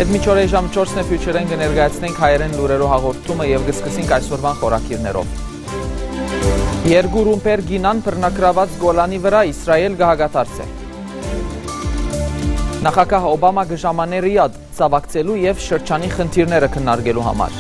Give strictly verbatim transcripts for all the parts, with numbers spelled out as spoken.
Մինչ օրը ժամ չորսն է, Future-ն կը ներկայացնենք հայերէն լուրերու հաղորդումը եւ կը սկսենք այսօրվան խորագիրներով։ Երկու ռումբեր կինան բռնագրաւած Գոլանի վրայ, Իսրայէլ կը հակադարձէ։ Նախագահ Օբամա կը ժամանէ Ռիադ, ցաւակցելու եւ շրջանի խնդիրները քննարկելու համար։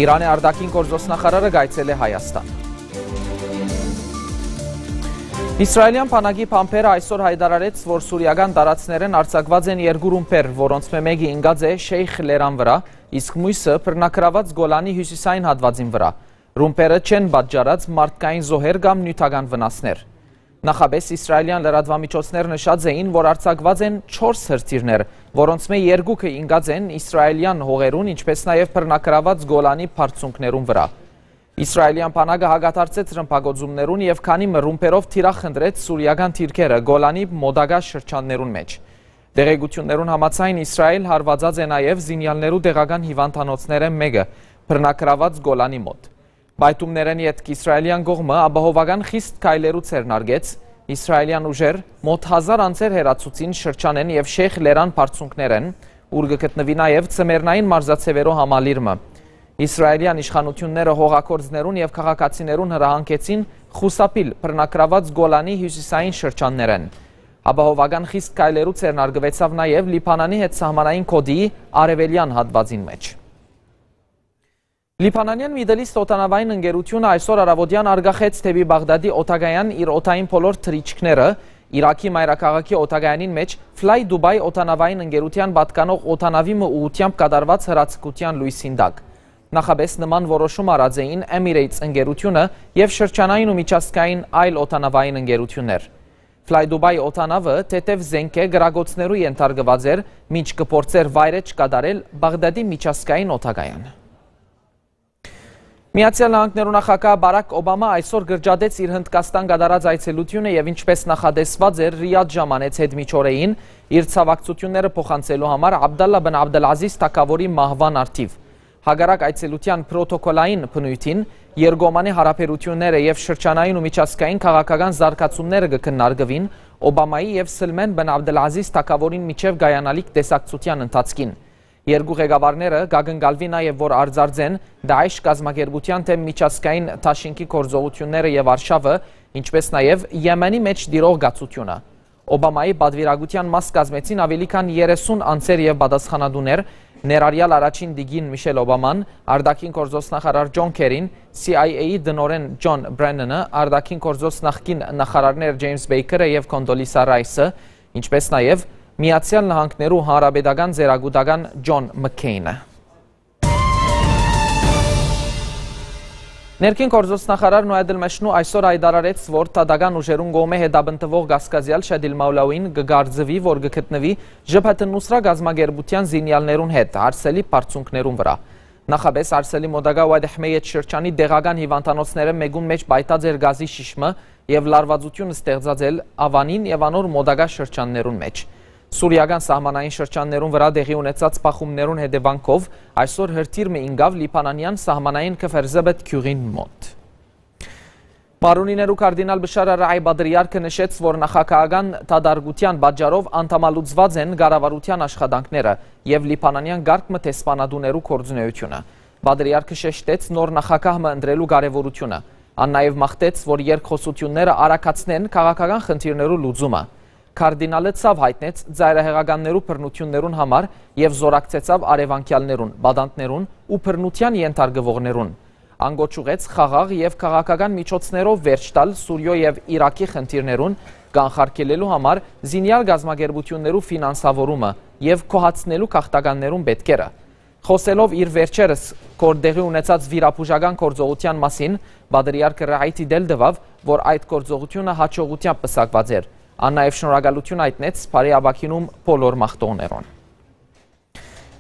Իրանի արտաքին գործոստնախարարը կայցելէ Հայաստան։ Իսրայելեան բանակի բանբերը այսօր յայտարարեց, որ սուրիական տարածքներէն արձակուած են երկու ռումբեր, որոնցմէ մէկը ինկած է Շեյխ լերան վրայ, իսկ միւսը բռնագրաւած Գոլանի հիւսիսային հատուածին վրայ։ Ռումբերը չեն պատճառած մարդկային զոհեր կամ նիւթական վնասներ։ Նախապէս իսրայելեան լրատուամիջոցներ նշած էին, որ արձակուած են չորս հրթիռներ, որոնցմէ երկուքը ինկած են իսրայելեան հողերուն, ինչպէս նաեւ բռնագրաւած Գոլանի բարձունքներուն վրայ։ Իսրայելեան բանակը հակադարձեց ռմբակոծումներուն եւ քանի մը ռումբերով թիրախ խնդրեց սուրիական դիրքերը Գոլանի մոտակայ շրջաններուն մէջ։ Տեղեկութիւններուն համաձայն, Իսրայէլ հարուածած է նաեւ զինեալներու տեղական հիւանդանոցներէն մէկը, բռնագրաւած Գոլանի մօտ։ Պայթումներէն ետք իսրայելեան կողմը ապահովական խիստ քայլերու ձեռնարկեց։ Իսրայելեան ուժեր մօտ հազար անցեր հեռացուցին շրջանէն եւ Շեյխ լերան բարձունքներէն, ուր կը գտնուի նաեւ ձմեռնային մարզաձեւերու համալիր մը։ Իսրայելեան իշխանութիւնները հողագործներուն եւ քաղաքացիներուն հրահանգեցին խուսափիլ բռնագրաւած Գոլանի հիւսիսային շրջաններէն։ Ապահովական խիստ քայլերու ձեռնարկուեցաւ նաեւ Լիբանանի հետ սահմանային գօտիի արեւելեան հատուածին մէջ։ Լիբանանեան Middle East օդանաւային ընկերութիւնը այսօր առաւօտեան արգախեց դէպի Բաղդադի օդակայան իր օդային բոլոր թռիչքները, Իրաքի մայրաքաղաքի օդակայանին մէջ Fly Dubai օդանաւային ընկերութեան պատկանող օդանաւի մը ուղղութեամբ կատարուած հրաձգութեան լոյսին տակ։ Նախապէս նման որոշում առած էին Emirates ընկերութիւնը եւ շրջանային ու միջազգային այլ օդանաւային ընկերութիւններ։ Fly Dubai օդանաւը թեթեւ զէնքէ կրակոցներու ենթարկուած էր, մինչ կը փորձէր վայրէջք կատարել Բաղդադի միջազգային օդակայան։ Միացեալ Նահանգներու նախագահ Բարաք Օբամա այսօր կրճատեց իր Հնդկաստան կատարած այցելութիւնը եւ, ինչպէս նախատեսուած էր, Ռիադ ժամանեց յետ միջօրեին՝ իր ցաւակցութիւնները փոխանցելու համար Աբդալլա բն Աբդըլազիզ թագաւորի մահուան առթիւ։ Հակառակ այցելութեան պրոտոկոլային բնոյթին, երկկողմանի յարաբերութիւնները եւ շրջանային ու միջազգային քաղաքական զարգացումները կը քննարկուին Օբամայի եւ Սլմեն բն Աբդըլազիզ թագաւորին միջեւ կայանալիք տեսակցութեան ընթացքին։ Երկու ղեկավարները կակնկալուի նաեւ, որ արձանեն Դաիշ կազմակերպութեան դէմ միջազգային դաշինքի գործողութիւնները եւ արշաւը, ինչպէս նաեւ Եմենի մէջ տիրող կացութիւնը։ Օբամայի պատուիրակութեան մաս կազմեցին աւելի քան երեսուն անձեր եւ պատասխանատուներ, ներառյալ առաջին տիկին Միշել Օբաման, արտաքին գործոստնախարար Ջոն Քերին, C I A-ի տնօրէն Ջոն Բրեննանը, արտաքին գործոց նախկին նախարարներ Ջեյմս Բեյքերը եւ Կոնդոլիսա Ռայսը, ինչպէս նաեւ Միացեալ Նահանգներու հանրապետական ծերակուտական Ջոն Մքքեյնը։ Ներքին գործոց նախարար Նոյա Դլմեշնու այսօր յայտարարեց, որ դատական ուժերուն կողմէ հետապնդուող կասկածեալ Շեդիլ Մաուլաուին կը կարծուի, որ կը գտնուի Ժեբհեթ Նուսրա կազմակերպութեան զինեալներուն հետ հարսելի բարձունքներուն վրայ։ Նախապէս հարսելի մոտակայ Ուայդ Հմեյետ շրջանի տեղական հիվանդանոցներէն մէկուն մէջ պայթած էր գազի շիշ մը եւ լարուածութիւն ստեղծած էր Ավանին եւ անոր մոտակայ շրջաններուն մէջ։ Սուրիական սահմանային շրջաններուն վրայ տեղի ունեցած բախումներուն հետեւանքով այսօր հրթիռ մը ինկաւ լիբանանեան սահմանային Քֆր Զեբետ գիւղին մօտ։ Մարոնիներու կարդինալ Բշար Արաի պատրիարքը նշեց, որ նախագահական դատարկութեան պատճառով անդամալուծուած են կառավարութեան աշխատանքները եւ լիբանանեան կարգ մը դեսպանատուներու գործունեութիւնը։ Պատրիարքը շեշտեց նոր նախագահ մը ընտրելու կարեւորութիւնը։ Ան նաեւ մաղթեց, որ երկխօսութիւնները արագացնեն քաղաքական խնդիրներու լուծումը։ Կարդինալը ցաւ յայտնեց ծայրահեղականներու բռնութիւններուն համար եւ զօրակցեցաւ արեւանկեալներուն, պատանդներուն ու բռնութեան ենթարկուողներուն։ Ան կոչ ուղղեց խաղաղ եւ քաղաքական միջոցներով վերջ տալ Սուրիոյ եւ Իրաքի խնդիրներուն, կանխարգելելու համար զինեալ կազմակերպութիւններու ֆինանսավորումը եւ գոհացնելու գաղթականներուն պէտքերը։ Խօսելով իր վերջերս կոր տեղի ունեցած վիրաբուժական գործողութեան մասին, պատրիարքը Ռաիթի դել տուաւ, որ այդ գործողութիւնը յաջողութեամբ պսակուած էր։ Ան նաեւ շնորհակալութիւն յայտնեց բարի ապագինում բոլոր մաղթողներուն։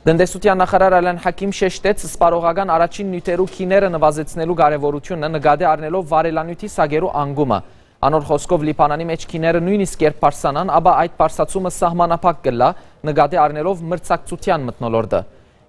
Տնտեսութեան նախարար Ալեն Հակիմ շեշտեց սպառողական առաջին նիւթերու գիները նվազեցնելու կարեւորութիւնը՝ նկատի առնելով վառելանիւթի սակերու անկումը։ Անոր խօսքով, Լիբանանի մէջ գիները նոյնիսկ երբ բարձրանան, ապա այդ բարձրացումը սահմանափակ կ'ըլլայ՝ նկատի առնելով մրցակցութեան մթնոլորտը։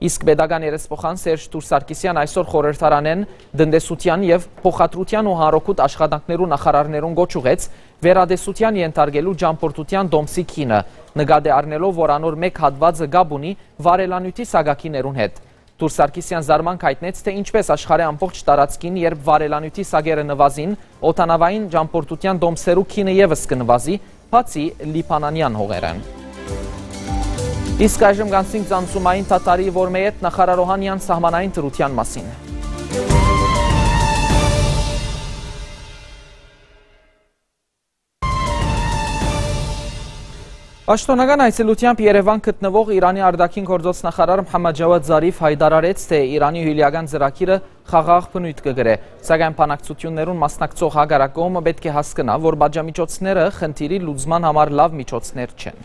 Իսկ պետական երեսփոխան Սերժ Թուր Սարգսեան այսօր խորհրդարանէն տնտեսութեան եւ փոխադրութեան ու հանրօգուտ աշխատանքներու նախարարներուն կոչ ուղղեց վերատեսութեան ենթարկելու ճամբորդութեան տոմսի գինը, նկատի առնելով որ անոր մէկ հատուածը կապ ունի վառելանիւթի սակագիներուն հետ։ Թուր Սարգսեան զարմանք յայտնեց, թէ ինչպէս աշխարհի ամբողջ տարածքին, երբ վառելանիւթի սակերը նուազին, օդանաւային ճամբորդութեան տոմսերու գինը եւս կը նուազի, բացի լիբանանեան հողերէն։ Իսկ այժմ կանցնենք ծանցումային թաթարի, որ մէյետ նախարար Օհանեան սահմանային դրութեան մասին։ Պաշտօնական այցելութեամբ Երեւան գտնուող Իրանի արտաքին գործոց նախարար Մհամմադ Ջավադ Զարիֆ յայտարարեց, թէ Իրանի հիւլեական ծրագիրը խաղաղ բնոյթ կը կրէ, սակայն բանակցութիւններուն մասնակցող հակառակ կողմը պէտք է հասկնայ, որ պատժամիջոցները խնդիրի լուծման համար լաւ միջոցներ չեն։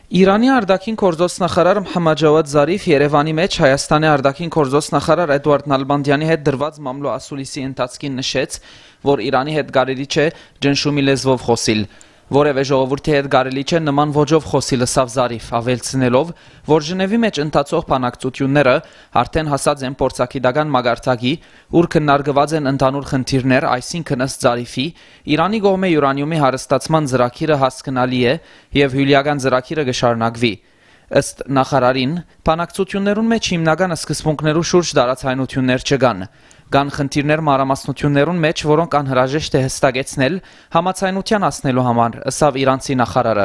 Իրանի արտաքին գործոց նախարար Մհամմադ Ջավադ Զարիֆ Երեւանի մէջ Հայաստանի արտաքին գործոց նախարար Էդուարդ Նալբանդեանի հետ դրուած մամլոյ ասուլիսի ընթացքին նշեց, որ Իրանի հետ կարելի չէ ճնշումի լեզուով խօսիլ։ Որեւէ ժողովուրդի հետ կարելի չէ նման ոճով խօսիլ, ըսաւ Զարիֆ, աւելցնելով, որ Ժնեւի մէջ ընթացող բանակցութիւնները արդէն հասած են փորձագիտական մակարդակի, ուր քննարկուած են ընդհանուր խնդիրներ, այսինքն, ըստ Զարիֆի, Իրանի կողմէ իւրանիումի հարստացման ծրագիրը հասկնալի է եւ հիւլեական ծրագիրը կը շարունակուի։ Ըստ նախարարին, բանակցութիւններուն մէջ հիմնական սկզբունքներու շուրջ տարաձայնութիւններ չկան։ Կան խնդիրներ մանրամասնութիւններուն մէջ, որոնք անհրաժեշտ է յստակեցնել համաձայնութեան հասնելու համար, ըսաւ իրանցի նախարարը։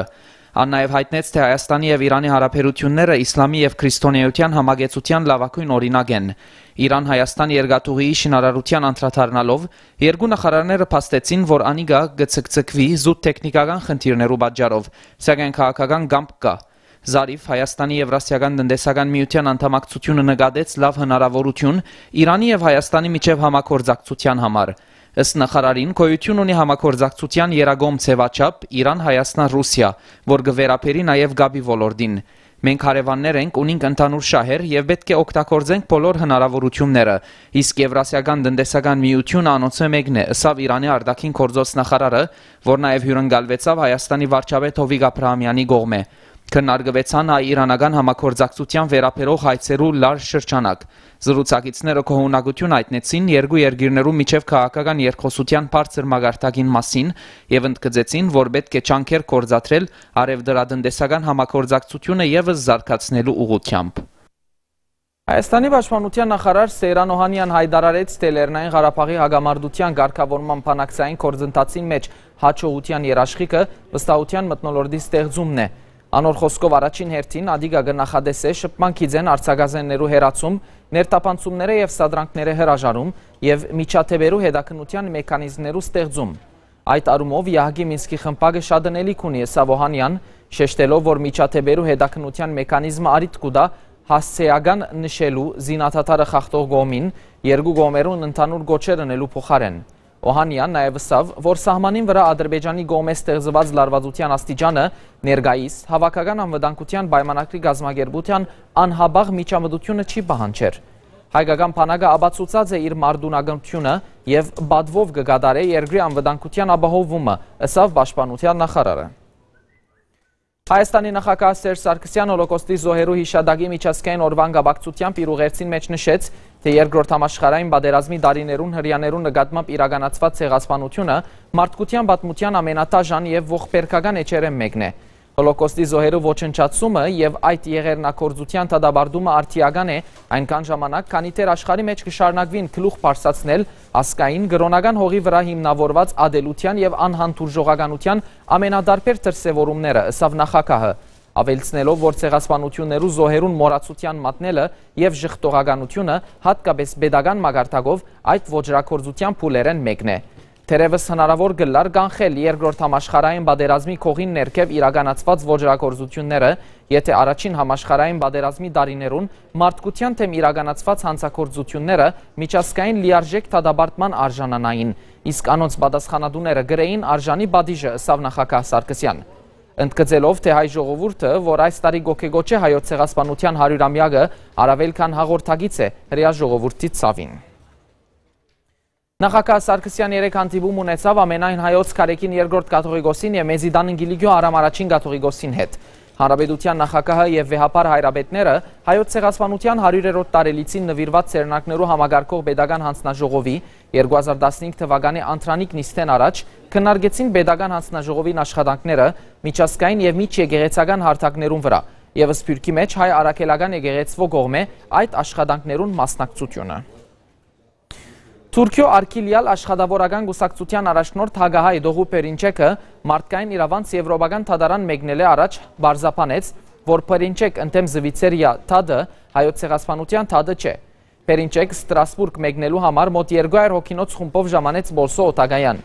Ան նաեւ յայտնեց, թէ Հայաստանի եւ Իրանի հարաբերութիւնները իսլամի եւ քրիստոնէայութեան համակեցութեան լաւագոյն օրինակ են։ Իրան-Հայաստան երկաթուղիի շինարարութեան անդրադառնալով, երկու նախարարները փաստեցին, որ անիկա կը ցկցկուի զուտ թեքնիքական խնդիրներու պատճառով, սակայն քաղաքական կամք կայ։ Զարիֆ Հայաստանի Եվրասիական տնտեսական միութեան անդամակցութիւնը նկատեց լաւ հնարաւորութիւն Իրանի եւ Հայաստանի միջեւ համագործակցութեան համար։ Ըստ նախարարին, գոյութիւն ունի համագործակցութեան եռակողմ ձեւաչափ Իրան-Հայաստան-Ռուսիա, որ կը վերաբերի նաեւ կապի ոլորտին։ Մենք հարեւաններ ենք, ունինք ընդհանուր շահեր եւ պէտք է օգտագործենք բոլոր հնարաւորութիւնները, իսկ Եվրասիական տնտեսական միութիւնը անոնցմէ մէկն է, ըսաւ Իրանի արտաքին գործոց նախարարը, որ նաեւ հիւրընկալուեցաւ Հայաստանի վարչապետ Հովիկ Աբրահամեանի կողմէ։ Քննարկուեցան հայ-իրանական համագործակցութեան վերաբերող հարցերու լարժ շրջանակ։ Զրուցակիցները գոհունակութիւն յայտնեցին երկու երկիրներու միջեւ քաղաքական երկխօսութեան բարձր մակարդակին մասին եւ ընդգծեցին, որ պէտք է ջանքեր գործադրել առեւտրատնտեսական համագործակցութիւնը եւս զարգացնելու ուղղութեամբ։ Հայաստանի պաշտպանութեան նախարար Սեյրան Օհանեան յայտարարեց, թէ Լեռնային Ղարաբաղի հակամարտութեան կարգաւորման բանակցային գործընթացին մէջ յաջողութեան երաշխիքը վստահութեան մթնոլորտի ստեղծումն է։ Անոր խօսքով, առաջին հերթին ատիկա կը նախատեսէ շփման գիծէն արձագազեններու հեռացում, ներթափանցումները եւ սադրանքները հրաժարում եւ միջադեպերու հետաքննութեան մեքանիզմներու ստեղծում։ Այդ առումով Եահկի Մինսկի խմբակը շատ ընելիք ունի, ըսաւ Օհանեան, շեշտելով, որ միջադեպերու հետաքննութեան մեքանիզմը առիթ կու տայ հասցէական նշելու զինադադարը խախտող կողմին, երկու կողմերուն ընդհանուր կոչեր ընելու փոխարէն։ Օհանեան նաեւ ըսաւ, որ սահմանին վրայ Ադրբեջանի կողմէ ստեղծուած լարուածութեան աստիճանը ներկայիս Հաւաքական անվտանգութեան պայմանագրի կազմակերպութեան անհապաղ միջամտութիւնը չի պահանջեր։ Հայկական բանակը ապացուցած է իր մարտունակությունը եւ պատվով կը կատարէ երկրի անվտանգութեան ապահովումը, ըսաւ պաշտպանութեան նախարարը։ Հայաստանի նախագահ Սերժ Սարգսեան Հոլոկոստի զոհերու յիշատակի միջազգային օրուան կապակցութեամբ իր ուղերձին մէջ նշեց, թէ Երկրորդ համաշխարհային պատերազմի տարիներուն հրեաներու նկատմամբ իրականացուած ցեղասպանութիւնը մարդկութեան պատմութեան ամենատաժան եւ ողբերգական էջերէն մէկն է։ Հոլոկոստի զոհերու ոչնչացումը եւ այդ եղեռնագործութեան դատապարտումը արդիական է, այնքան ժամանակ, քանի դեռ աշխարհի մէջ կը շարունակուին գլուխ բարձրացնել ազգային, կրօնական հողի վրայ հիմնաւորուած ատելութեան եւ անհանդուրժողականութեան ամենատարբեր դրսեւորումները, ըսաւ նախագահը, աւելցնելով, որ ցեղասպանութիւններու զոհերուն մոռացութեան մատնելը եւ ժխտողականությունը, յատկապէս պետական մակարդակով, այդ ոճրագործութեան փուլերէն մէկն է։ Թերեւս հնարաւոր կ'ըլլար կանխել Երկրորդ համաշխարհային պատերազմի կողին ներքեւ իրականացուած ոճրագործութիւնները, եթէ Առաջին համաշխարհային պատերազմի տարիներուն մարդկութեան դէմ իրականացուած յանցագործութիւնները միջազգային լիարժէք դատապարտման արժանանային, իսկ անոնց պատասխանատուները կրէին արժանի պատիժը, ըսաւ նախագահ Սարգսեան։ Ընդգծելով, թէ հայ ժողովուրդը, որ այս տարի կ'ոգեկոչէ հայոց ցեղասպանութեան հարիւրամեակը, առաւել քան հաղորդակից է հրեայ ժողովուրդի ցաւին։ Նախագահ Սարգսեան երեկ հանդիպում ունեցաւ ամենայն հայոց Գարեգին երկրորդ կաթողիկոսին եւ Մեծի Տան Կիլիկիոս Արամ առաջին կաթողիկոսին հետ։ Հանրապետութեան նախագահը եւ վեհափառ հայրապետները Հայոց ցեղասպանութեան հարիւրերորդ տարելիցին նուիրուած ձեռնարկներու համակարգող պետական յանձնաժողովի երկու հազար տասնհինգ թուականի անդրանիկ նիստէն առաջ քննարկեցին պետական յանձնաժողովին աշխատանքները միջազգային եւ միջեկեղեցական հարթակներուն վրայ եւ Սփիւռքի մէջ հայ առաքելական եկեղեցւոյ կողմէ այդ աշխատանքներուն մասնակցությունը։ Թուրքիոյ արգիլեալ աշխատաւորական կուսակցութեան առաջնորդ հակահայ Դողու Պերինչեքը մարդկային իրաւանց Եվրոպական դատարան մեկնելէ առաջ պարզաբանեց, որ Պերինչեկ ընդդեմ Զվիցերիա դատը Հայոց ցեղասպանութեան դատը չէ։ Պերինչեկ Ստրասբուրգ մեկնելու համար մօտ երկու հարիւր հոգինոց խումբով ժամանեց Պոլսոյ օդակայան։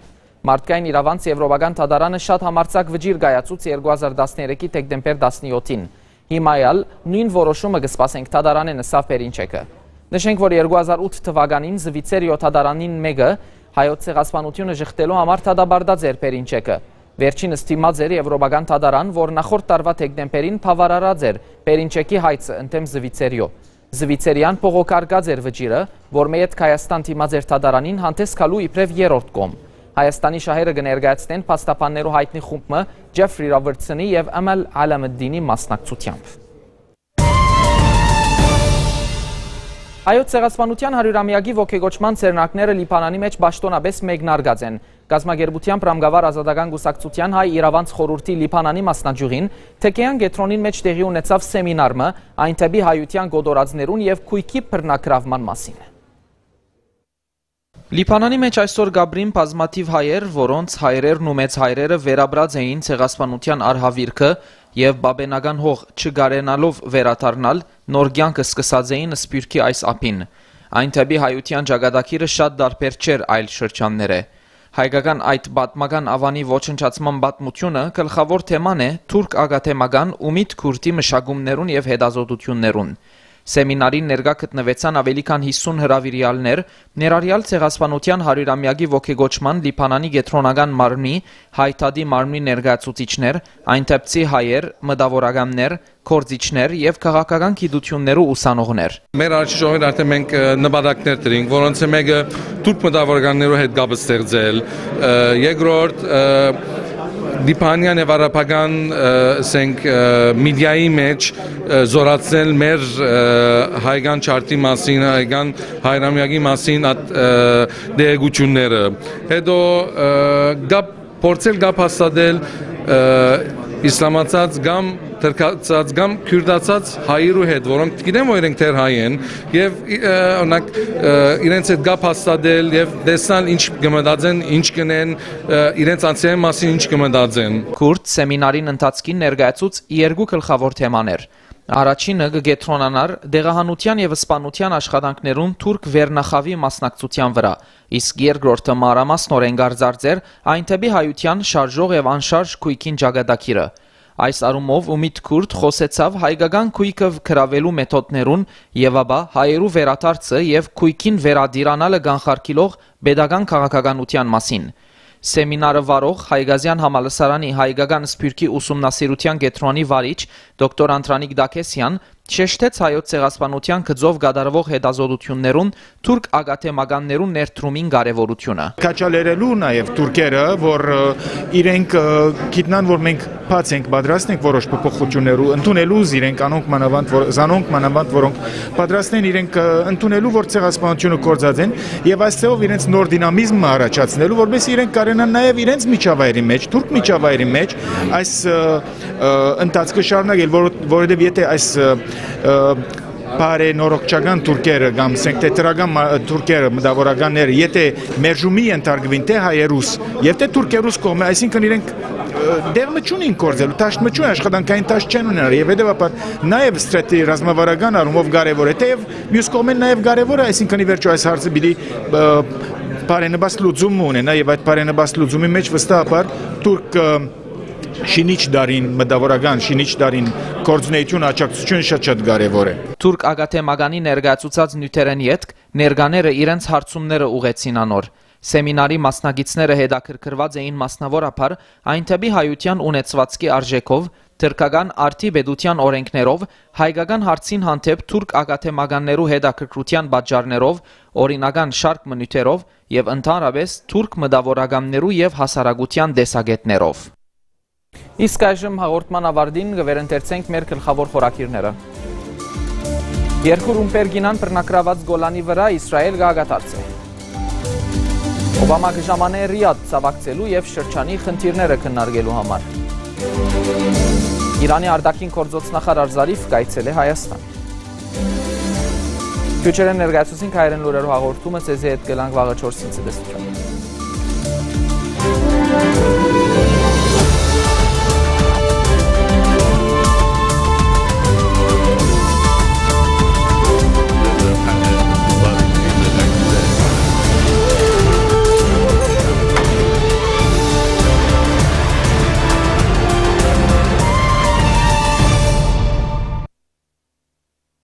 Մարդկային իրաւանց Եվրոպական դատարանը շատ համարձակ վճիռ կայացուց երկու հազար տասներեքի դեկտեմբեր տասնեօթին։ Հիմա ալ նոյն որոշումը կը սպասենք դատարանէն, ըսաւ Պերինչեքը։ Նշենք, որ երկու հազար ութ թուականին Զվիցերիոյ դատարանին մէկը Հայոց ցեղասպանութիւնը ժխտելու համար դատապարտած էր Պերինչեքը։ Վերջինս դիմած էր Եվրոպական դատարան, որ նախորդ տարուայ դեկտեմբերին բաւարարած էր Պերինչեքի հայցը ընդդեմ Զվիցերիոյ։ Զվիցերիան բողոքարկած էր վճիռը, որ մը յետ Հայաստան դիմած էր դատարանին հանդէս գալու իբրեւ երրորդ կողմ։ Հայաստանի շահերը կը ներկայացնեն փաստաբաններու հայտնի խումբ մը Ջեֆրի Ռոբերտսոնի եւ Ըմել Ալամըդդինի մասնակցությամբ։ Հայոց ցեղասպանութեան հարիւրամեակի ոգեկոչման ձեռնարկները Լիբանանի մէջ պաշտօնապէս մեկնարկած են։ Կազմակերպութեան Պրամկավար Ազատական Կուսակցութեան Հայ Իրաւանց Խորհուրդի Լիբանանի մասնաճիւղին Թեքեան կեդրոնին մէջ տեղի ունեցաւ սեմինար մը այն դէպի հայութեան կոտորածներուն եւ գոյքի բռնագրաւման մասին։ Լիբանանի մէջ այսօր կ'ապրին բազմաթիւ հայեր, որոնց հայրերն ու մեծ հայրերը վերապրած էին ցեղասպանութեան արհաւիրքը եւ պապենական հող չկարենալով վերադառնալ, նոր կեանք սկսած էին Սփիւռքի այս ափին։ Այն դէպի հայութեան ճակատագիրը շատ տարբեր չէր այլ շրջաններէ։ Հայկական այդ պատմական աւանի ոչնչացման պատմութիւնը գլխաւոր թեման է թուրք ակադեմական Ումիտ Քուրթի մշակումներուն եւ հետազոտութիւններուն։ Սեմինարին ներկայ գտնուեցան աւելի քան յիսուն հրաւիրեալներ, ներառեալ ցեղասպանութեան հարիւրամեակի ոգեկոչման Լիբանանի կեդրոնական մարմնի, Հայ դատի մարմնի ներկայացուցիչներ, այն դէպցի հայեր, մտաւորականներ, գործիչներ եւ քաղաքական գիտութիւններու ուսանողներ։ Մեր առաջնորդին արդեն մենք, ը, նպատակներ դրինք, որոնցէ մէկը թուրք մտաւորականներու հետ կապ ստեղծել, ը, երկրորդ, ը, լիբանեան եւ արաբական, ը, ասենք, ը, մեդիայի մէջ, ը, զօրացնել մեր, ը, հայկական չարթի մասին, հայկական հայրամեակի մասին այդ, ը, տեղեկութիւնները։ Հետո, ը, կապ փորձել կապ հաստատել, ը, իսլամացած կամ թրքացած կամ քյուրտացած հայերու հետ, որոնք գիտեմ, որ իրենք դեռ հայ են, եւ, ը, օրինակ, ը, իրենց հետ կապ հաստատել եւ տեսնալ ինչ կը մտածեն, ինչ կ'ընեն, ը, իրենց անձնային մասին ինչ կը մտածեն։ Քուրթ սեմինարին ընթացքին ներկայացուց երկու գլխաւոր թեմաներ։ Առաջինը կը կեդրոնանար դեղահանութեան եւ սպանութեան աշխատանքներուն թուրք վերնախաւի մասնակցութեան վրայ, իսկ երկրորդը մանրամասնօրէն կ'արձարծէր այն դէպի հայութեան շարժող եւ անշարժ գոյքին ճակատագիրը։ Այս առումով Ումիտ Քուրթ խօսեցաւ հայկական գոյքը գրաւելու մեթոդներուն եւ ապա հայերու վերադարձը եւ գոյքին վերատիրանալը կանխարգիլող պետական քաղաքականութեան մասին։ Սեմինարը վարող Հայկազեան համալսարանի հայկական սփիւռքի ուսումնասիրութեան կեդրոնի վարիչ դոկտոր Անդրանիկ Դաքեսեան շեշտեց հայոց ցեղասպանութեան գծով կատարուող հետազոտութիւններուն թուրք ակադեմականներուն ներդրումին կարեւորութիւնը։ Քաչալերելու նաեւ թուրքերը, որ, ը, իրենք, ը, գիտնան, որ մենք բաց ենք, պատրաստ ենք որոշ փոփոխություններու ընդունելու, զիրենք անոնք մանավանդ, որ, զանոնք մանավանդ, որոնք պատրաստ են իրենք, ը, ընդունելու, որ ցեղասպանությունը կործած են, եւ այս ձեւով իրենց նոր դինամիզմը առաջացնելու, որպեսզի իրենք կարենան նաեւ իրենց միջավայրի մեջ, թուրք միջավայրի մեջ այս, ը, ը, ընթացքը շարունակել, որ, որովհետեւ եթե այս, ը, ը, բարենորոգչական թուրքերը կամ, ասենք, թեթրական մա-, թուրքերը, մտավորականները, եթե մերժումի ենթարկվին, թե հայերուս, եւ թե թուրքերուս կողմէ, այսինքն իրենք, ը, դեղ մը չունին գործելու, դաշտ մը չունին, աշխատանքային դաշտ չեն ունենալ, եւ հետեւաբար նաեւ ստրատեգի ռազմավարական առումով կարեւոր է, թեեւ մյուս կողմէն նաեւ կարեւոր է, այսինքն, ի վերջոյ, այս հարցը պիտի, ը, բարենպաստ լուծում մը ունենայ, եւ այդ բարենպաստ լուծումի մեջ վստահաբար թուրք, ը, շինիչ դարին, մտավորական շինիչ դարին գործունեությունը, աջակցությունը շատ-շատ կարեւոր է։ Թուրք ակադեմականի ներկայացուցած նիւթերէն ետք ներկաները իրենց հարցումները ուղղեցին անոր։ Սեմինարի մասնակիցները հետաքրքրուած էին մասնաւորաբար այն դէպի հայութեան ունեցուածքի արժէքով, թրքական արդի պետութեան օրէնքներով, հայկական հարցին հանդէպ թուրք ակադեմականներու հետաքրքրութեան պատճառներով, օրինական շարք մը նիւթերով եւ ընդհանրապէս թուրք մտավորականներու եւ հասարակութեան տեսակէտներով։ Իսկ այժմ հաղորդման աւարտին կը վերընթերցենք մեր գլխաւոր խորագիրները։ Երկու ռումբեր կինան բռնակրաւած Գոլանի վրայ, Իսրայէլ կը հակադարձէ։ Օբամա կը ժամանէ Ռիադ ցաւակցելու եւ շրջանի խնդիրները քննարկելու համար։ Իրանի արտաքին գործոց նախարար Զարիֆ կայցելէ Հայաստան։ Քիչ անցած ներկայացուցին հայերէն լուրերու հաղորդումը, ձեզի հետ կ'ըլլանք վաղը չորսին, ցտեսութիւն։